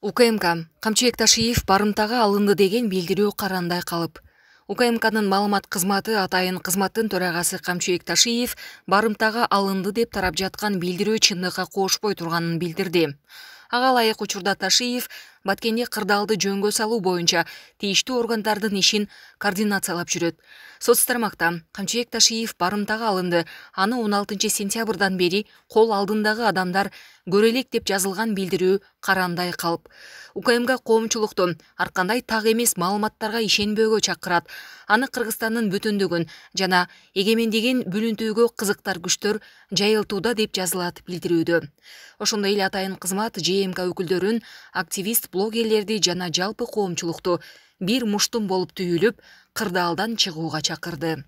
УКМК Камчыбек Ташиев барымтага алынды деген билдирүү карандай калып. УКМКнын маалымат кызматы атайын кызматтын төрагасы Камчыбек Ташиев барымтага алынды деп тарап жаткан билдирүү чындыкка кошпой турганын билдирди. Ага ылайык учурда Ташиев Баткенде кырдаалды жөнгө салуу боюнча тийиштүү органдардын ишин координациялап жүрөт. Соц тармакта Камчыбек Ташиев барымтага алынды, аны 16 сентябрдан бери кол алдындагы адамдар көрө элек деп жазылган билдирүү карандай калып. УКМК коомчулукту ар кандай так эмес маалыматтарга ишенбөөгө чакырат. Аны Кыргызстандын бүтүндүгүн жана эгемендигин бүлүнтүүгө кызыктар күчтөр жайылтууда деп жазылат билдирүүдө. Ошондой эле атайын кызмат ЖМК өкүлдөрүн, активист блогерлерди жана жалпы коомчулукту бир муштум болуп түйүлүп, кырдаалдан чыгууга чакырды.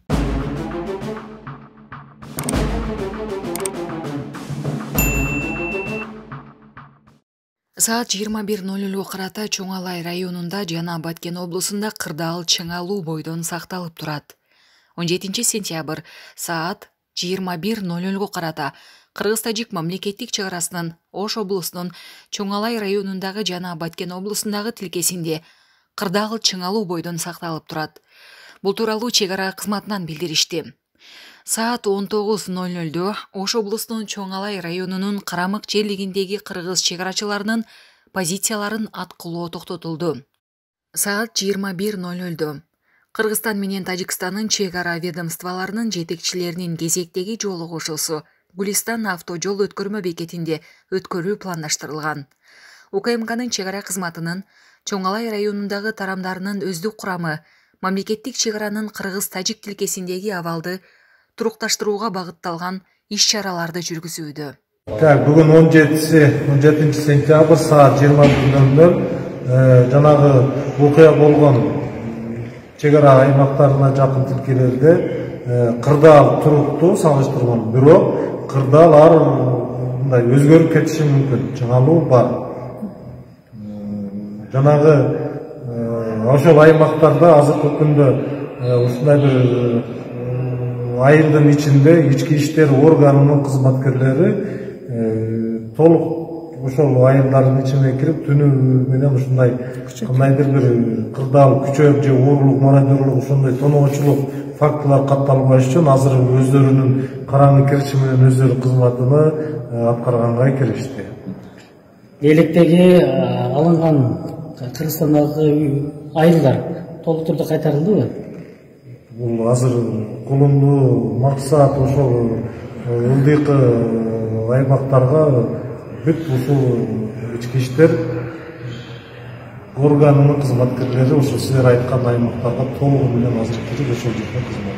Саат 21:00 карата Чоң Алай районунда жана Баткен облусунда кырдаал чыңалуу бойдон сакталып турат. 17 сентябрь саат 21:00 карата Кыргыз-Тажик мамлекеттик чек арасынын Ош облусунун Чоң Алай районундагы жана Баткен облусундагы тилкесинде кырдаал чыңалуу бойдон сакталып турат. Бул тууралуу чек ара кызматынан билдиришти. Саат 19:00 Ош облусунун Чоң Алай районунун Карамык жерлигиндеги кыргыз чек арачыларынын позицияларын аткылоо токтотулду. Саат 21:00 Кыргызстан менен Тажикстандын чек ара ведомстволорунун жетекчилеринин кезектеги жолугушуусу Гулистан автожол өткөрмө бекетинде өткөрүү пландаштырылган. УКМКнын чек ара кызматынын Чоң Алай районундагы тарамдарынын өздүк курамы мамлекеттик чек аранын кыргыз-тажик тилкесиндеги абалды турукташтырууга багытталган иш-чараларды жүргүзүүдө. Бүгүн 17 сентябрь саат 21:00 жанагы окуя болгон чек ара аймактарына жакын тилкелерде кырдаал туруктуу салыштырмалуу, бирок кырдаал ар мындай өзгөрүп кетиши мүмкүн, чыңалуу бар. Жанагы ошол аймактарда азыркы күндө ушундай бир айылдын ичинде ички иштер органынын кызматкерлери толук ошол айылдардын ичине кирип түнү менен ушундай кандайдыр бир кырдаал күчөп же уурулук, мародёрлук ошондой тоноочулук фактылар катталбаш үчүн азыр өздөрүнүн караңгы кириши менен өздөрү кызматыны аткарганга киришти. Электеги алынган Кыргызстандагы айылдар толук түрдө кайтарылдыбы? Бул азыр колумдуу максат ошол ылдыйкы аймактарга бүт ушул ички иштер органынын кызматкерлери ошо силер айткан аймактарга толугу менен азыр кирип ошол жерде кызмат